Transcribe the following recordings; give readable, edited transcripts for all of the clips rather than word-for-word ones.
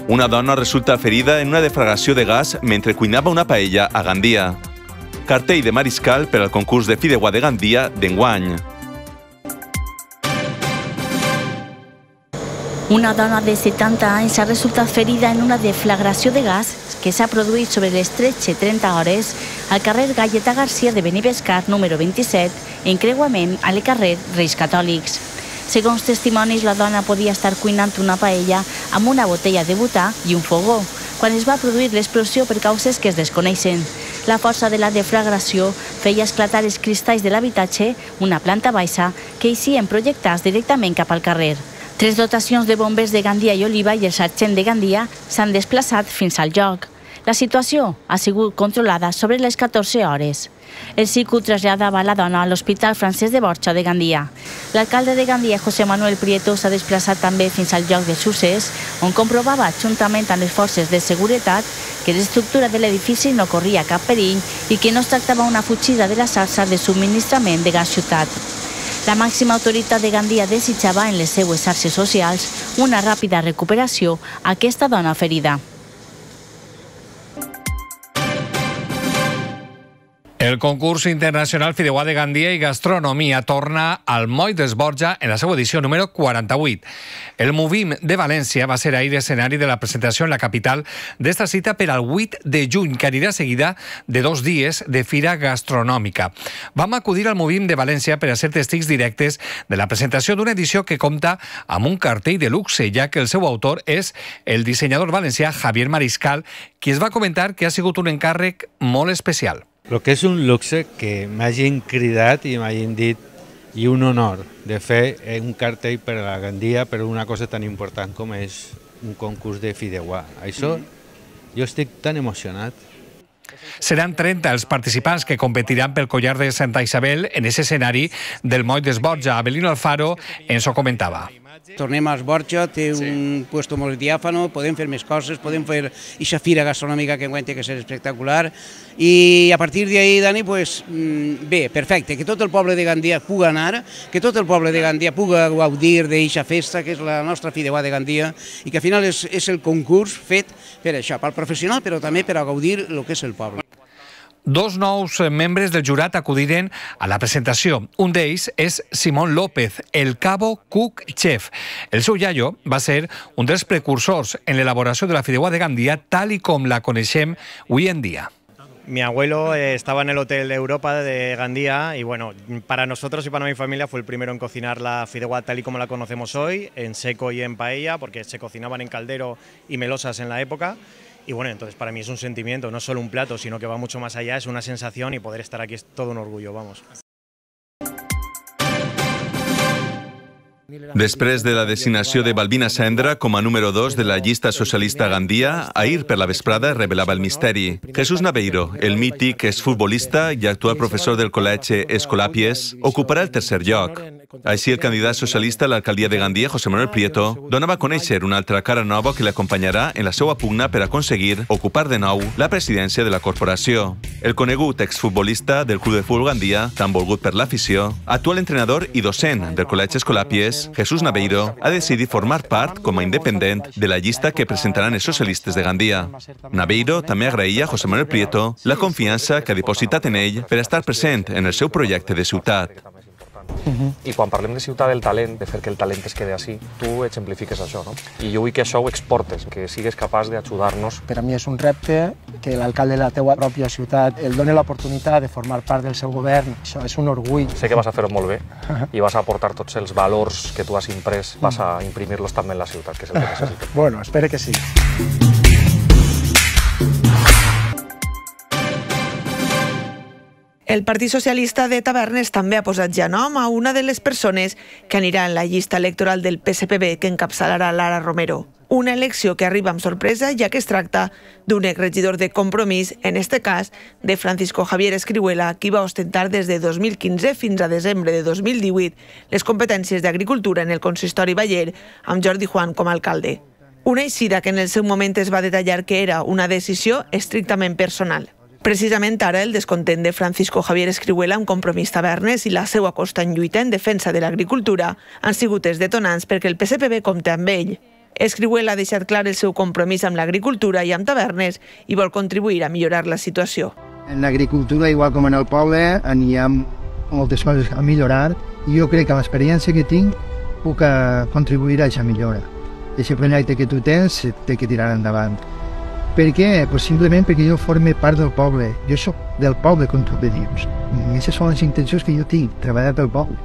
Una dona resulta ferida en una deflagració de gas mentre cuinava una paella a Gandia. Cartell de mariscal per al concurs de fideuà de Gandia d'enguany. Una dona de 70 anys ha resultat ferida en una deflagració de gas que s'ha produït sobre les 13:30 hores al carrer Galleta Garcia de Benibescar, número 27, encreuament al carrer Reis Catòlics. Segons testimonis, la dona podia estar cuinant una paella amb una botella de butà i un fogó, quan es va produir l'explosió per causes que es desconeixen. La força de la deflagració feia esclatar els cristalls de l'habitatge, una planta baixa, que eixien projectats directament cap al carrer. 3 dotacions de bombers de Gandia i Oliva i el sergent de Gandia s'han desplaçat fins al lloc. La situació ha sigut controlada sobre les 14 hores. El SICU traslladava la dona a l'Hospital Francesc de Borja de Gandia. L'alcalde de Gandia, José Manuel Prieto, s'ha desplaçat també fins al lloc de succés, on comprovava, juntament amb les forces de seguretat, que l'estructura de l'edifici no corria cap perill i que no es tractava una fugida de la xarxa de subministrament de gas ciutat. La màxima autoritat de Gandia desitjava en les seues xarxes socials una ràpida recuperació a aquesta dona ferida. El concurs internacional Fideuà de Gandia i Gastronomia torna al Moll d'Esborja en la seva edició número 48. El Movim de València va ser ahir escenari de la presentació en la capital d'esta cita per al 8 de juny, que anirà seguida de 2 dies de fira gastronòmica. Vam acudir al Movim de València per a ser testigs directes de la presentació d'una edició que compta amb un cartell de luxe, ja que el seu autor és el dissenyador valencià Javier Mariscal, qui es va comentar que ha sigut un encàrrec molt especial. El que és un luxe que m'hagin cridat i m'hagin dit i un honor de fer un cartell per a la Gandia per una cosa tan important com és un concurs de fideuà. Això jo estic tan emocionat. Seran 30 els participants que competiran pel collar de Santa Isabel en aquest escenari del Moll d'Esborja. Abelino Alfaro ens ho comentava. Tornem a Esborja, té un puesto molt diàfano, podem fer més coses, podem fer aquesta fira gastronòmica que enguany té que ser espectacular i a partir d'ahir, Dani, bé, perfecte, que tot el poble de Gandia pugui anar, que tot el poble de Gandia pugui gaudir d'aquesta festa que és la nostra fideuà de Gandia i que al final és el concurs fet per això, pel professional però també per a gaudir el que és el poble. 2 nous membres del jurat acudiren a la presentació. Un d'ells és Simón López, el cabo cook chef. El seu iaio va ser un dels precursors en l'elaboració de la fideuà de Gandia tal i com la coneixem avui en dia. Mi abuelo estaba en el Hotel Europa de Gandía y bueno, para nosotros y para mi familia fue el primero en cocinar la fideuà tal y como la conocemos hoy, en seco y en paella, porque se cocinaban en caldero y melosas en la época. Y bueno, entonces para mí es un sentimiento, no solo un plato, sino que va mucho más allá, es una sensación y poder estar aquí es todo un orgullo, vamos. Després de la designació de Balbina Sendra com a número 2 de la llista socialista a Gandia, ahir per la vesprada revelava el misteri. Jesús Naveiro, el mític exfutbolista i actual professor del Col·legi Escolàpies, ocuparà el 3è lloc. Així, el candidat socialista a l'alcaldia de Gandia, José Manuel Prieto, donava a conèixer una altra cara nova que l'acompanyarà en la seva pugna per aconseguir ocupar de nou la presidència de la corporació. El conegut exfutbolista del Club de Futbol Gandia, tan volgut per l'afició, actual entrenador i docent del Col·legi Escolàpies, Jesús Naveiro ha decidit formar part com a independent de la llista que presentaran els socialistes de Gandia. Naveiro també agraïa a José Manuel Prieto la confiança que ha dipositat en ell per estar present en el seu projecte de ciutat. I quan parlem de ciutat del talent, de fer que el talent es quede així, tu exemplifiques això, no? I jo vull que això ho exportes, que sigues capaç d'ajudar-nos. Per a mi és un repte que l'alcalde de la teua pròpia ciutat el doni l'oportunitat de formar part del seu govern. Això és un orgull. Sé que vas a fer-ho molt bé i vas a aportar tots els valors que tu has imprès, vas a imprimir-los també en la ciutat, que és el que necessitem. Bueno, espero que sí. El Partit Socialista de Tavernes també ha posat ja nom a una de les persones que anirà en la llista electoral del PSPB que encapçalarà Lara Romero. Una elecció que arriba amb sorpresa, ja que es tracta d'un exregidor de Compromís, en este cas de Francisco Javier Escrihuela, qui va ostentar des de 2015 fins a desembre de 2018 les competències d'agricultura en el consistori Baller, amb Jordi Juan com a alcalde. Una eixida que en el seu moment es va detallar que era una decisió estrictament personal. Precisament ara el descontent de Francisco Javier Escrihuela amb Compromís Tavernes i la seva constant lluita en defensa de l'agricultura han sigut els detonants perquè el PSPB compta amb ell. Escrihuela ha deixat clar el seu compromís amb l'agricultura i amb Tavernes i vol contribuir a millorar la situació. En l'agricultura, igual com en el poble, hi ha moltes coses a millorar i jo crec que l'experiència que tinc puc contribuir a aquesta millora. Aquest projecte que tu tens té que tirar endavant. Per què? Pues simplement perquè jo forme part del poble. Jo soc del poble, com tu bé dius. I aquestes són les intencions que jo tinc, treballar pel poble.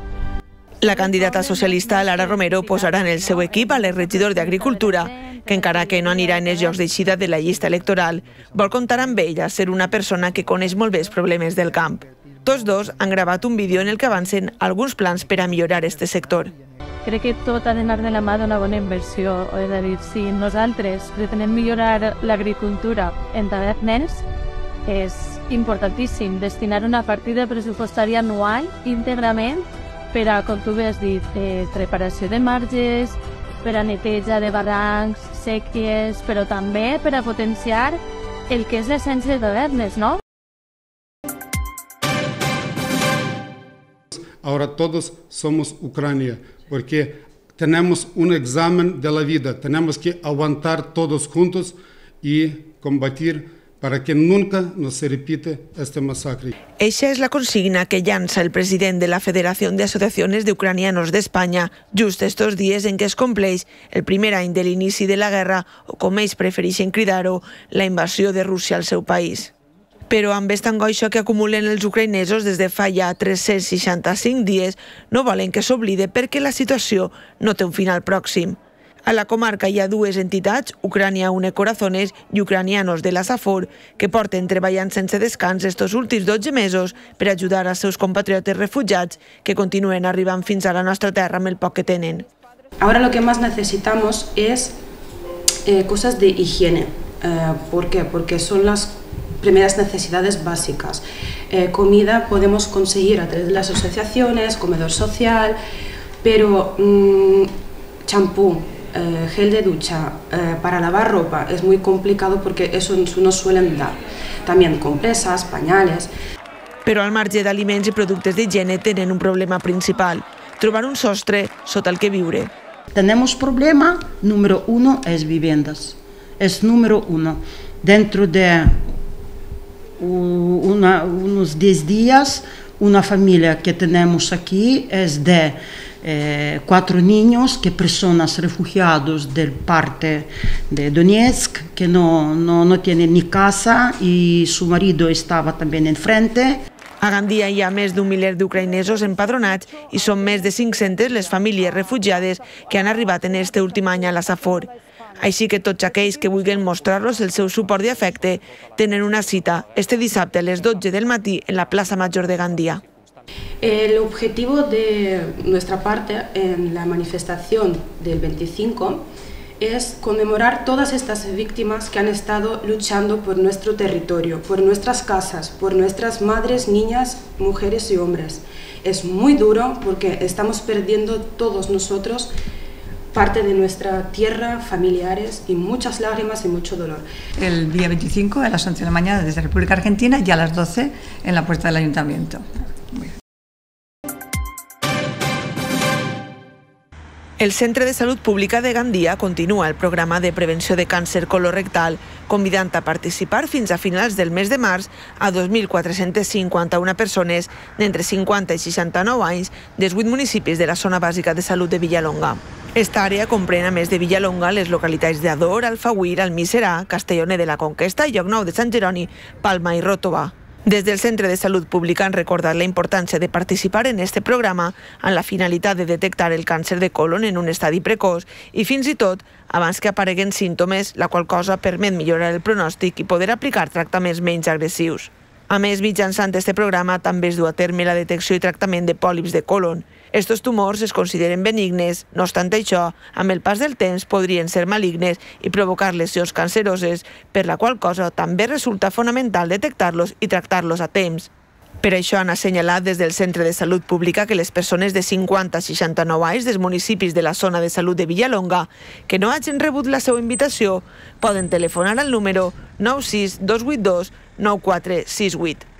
La candidata socialista Lara Romero posarà en el seu equip a l'exregidor d'Agricultura, que encara que no anirà en els jocs d'eixida de la llista electoral, vol comptar amb ella ser una persona que coneix molt bé els problemes del camp. Tots dos han gravat un vídeo en el que avancen alguns plans per a millorar aquest sector. Crec que tot ha d'anar de la mà d'una bona inversió. És a dir, si nosaltres pretenem millorar l'agricultura en Tavernes, és importantíssim destinar una partida pressupostària anual íntegrament per a, com tu bé has dit, preparació de marges, per a neteja de barrancs, sèquies, però també per a potenciar el que és l'essència de Tavernes, no? Ahora todos somos Ucrania, porque tenemos un examen de la vida, tenemos que aguantar todos juntos y combatir para que nunca nos se repite este masacre. Eixa és la consigna que llança el president de la Federación de Asociaciones de Ucranianos d'Espanya just estos dies en què es compleix el primer any de l'inici de la guerra, o com ells prefereixen cridar-ho, la invasió de Rússia al seu país. Però amb aquesta angoixa que acumulen els ucraïnesos des de fa ja 365 dies, no volen que s'oblide perquè la situació no té un final pròxim. A la comarca hi ha dues entitats, Ucrania Une Corazones i Ucranianos de la Safor, que porten treballant sense descans estos últims 12 mesos per ajudar als seus compatriotes refugiats que continuen arribant fins a la nostra terra amb el poc que tenen. Ahora lo que más necesitamos es cosas de higiene. ¿Por qué? Porque son las primeras necesidades básicas. Comida podemos conseguir a través de las asociaciones, comedor social, pero champú, gel de ducha, para lavar ropa es muy complicado porque eso no suelen dar. También compresas, pañales. Però al marge d'aliments i productes d'higiene tenen un problema principal, trobar un sostre sota el que viure. Tenemos problema número 1 es viviendas. Es número 1. Dentro de unos 10 días, una familia que tenemos aquí es de 4 niños, que personas refugiados del parte de Donetsk, que no tienen ni casa y su marido estaba también enfrente. A Gandia hi ha més d'un miler d'ucraïnesos empadronats i són més de 500 les famílies refugiades que han arribat en este últim any a la Safor. Així que tots aquells que vulguin mostrar-los el seu suport i afecte tenen una cita este dissabte a les 12 del matí en la plaça Major de Gandia. El objetivo de nuestra parte en la manifestación del 25 es conmemorar todas estas víctimas que han estado luchando por nuestro territorio, por nuestras casas, por nuestras madres, niñas, mujeres y hombres. Es muy duro porque estamos perdiendo todos nosotros parte de nuestra tierra, familiares y muchas lágrimas y mucho dolor. El día 25 a las 11 de la mañana desde República Argentina y a las 12 en la puerta del Ayuntamiento. El Centre de Salut Pública de Gandia continua el programa de prevenció de càncer colorectal, convidant a participar fins a finals del mes de març a 2.451 persones d'entre 50 i 69 anys dels 8 municipis de la zona bàsica de salut de Villalonga. Esta àrea comprèn, a més de Villalonga, les localitats d'Ador, Alfauir, Almiserà, Castelloner de la Conquesta, Llocnou de Sant Jeroni, Palma i Ròtova. Des del Centre de Salut Pública han recordat la importància de participar en este programa amb la finalitat de detectar el càncer de colon en un estadi precoç i fins i tot abans que apareguen símptomes, la qual cosa permet millorar el pronòstic i poder aplicar tractaments menys agressius. A més, mitjançant este programa també es du a terme la detecció i tractament de pòlips de colon. Estos tumors es consideren benignes, no obstant això, amb el pas del temps podrien ser malignes i provocar lesions canceroses, per la qual cosa també resulta fonamental detectar-los i tractar-los a temps. Per això han assenyalat des del Centre de Salut Pública que les persones de 50 a 69 anys dels municipis de la zona de salut de Villalonga que no hagin rebut la seva invitació poden telefonar al número 96 282 9468.